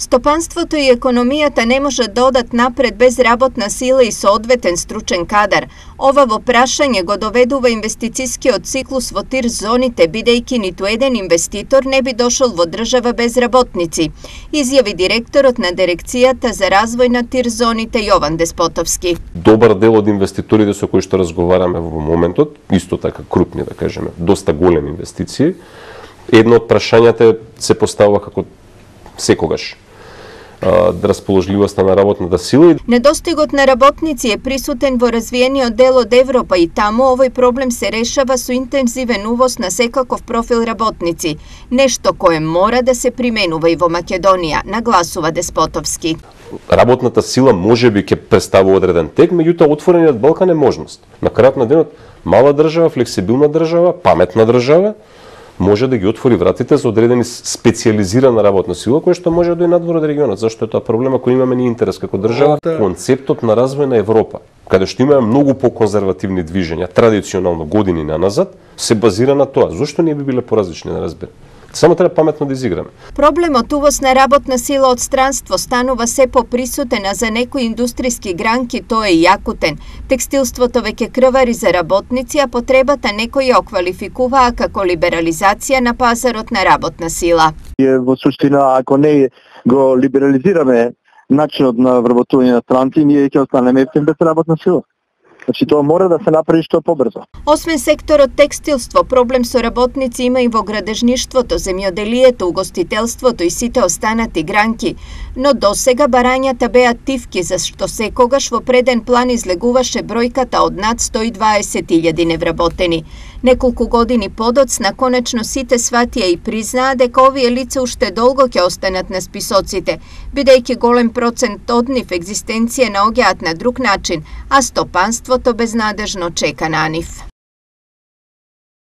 Стопанството и економијата не може да одат напред без работна сила и соодветен стручен кадар. Ова во прашање го доведува инвестицискиот циклус во тир зоните, бидејќи ниту еден инвеститор не би дошол во држава без работници, изјави директорот на дирекцијата за развој на тир зоните Јован Деспотовски. Добар дел од инвеститорите со кои што разговараме во моментот, исто така крупни, да кажеме, доста големи инвестиции, едно од прашањата се поставува како секогаш расположливоста на работната сила. Недостигот на работници е присутен во развиениот дел од Европа и таму овој проблем се решава со интензивен увоз на секаков профил работници, нешто кое мора да се применува и во Македонија, нагласува Деспотовски. Работната сила можеби ќе представува одреден тек, меѓутоа отворениот Балкан е можност. На крајот на денот, мала држава, флексибилна држава, паметна држава, може да ги отвори вратите за одредени специјализирана работна сила, која што може да и надвор од регионот. Зашто е тоа проблема кој имаме ние интерес како држава? Концептот на развој на Европа, каде што имаме многу поконзервативни движења, традиционално години наназад, се базира на тоа. Зошто ние би биле поразлични, не разбирам. Само треба паметно да изиграме. Проблемот увоз на работна сила од странство станува се поприсутен, а за некои индустријски гранки тоа е јакутен. Текстилството веќе крвари за работници, а потребата некои ја оквалификуваа како либерализација на пазарот на работна сила. Во суштина, ако не го либерализираме начинот на вработување на странци, ние ќе останеме без работна сила. Значи тоа мора да се направи што побрзо. Освен секторот текстилство, проблем со работници има и во градежништвото, земјоделието, угостителството и сите останати гранки. Но досега барањата беа тивки, зашто секогаш во преден план излегуваше бројката од над 120.000 невработени. Неколку години подоцна, конечно сите сватија и признаа дека овие лица уште долго ќе останат на списоците, бидејќи голем процент од нив екзистенција наоѓаат на друг начин, а стопанството безнадежно чека на нив.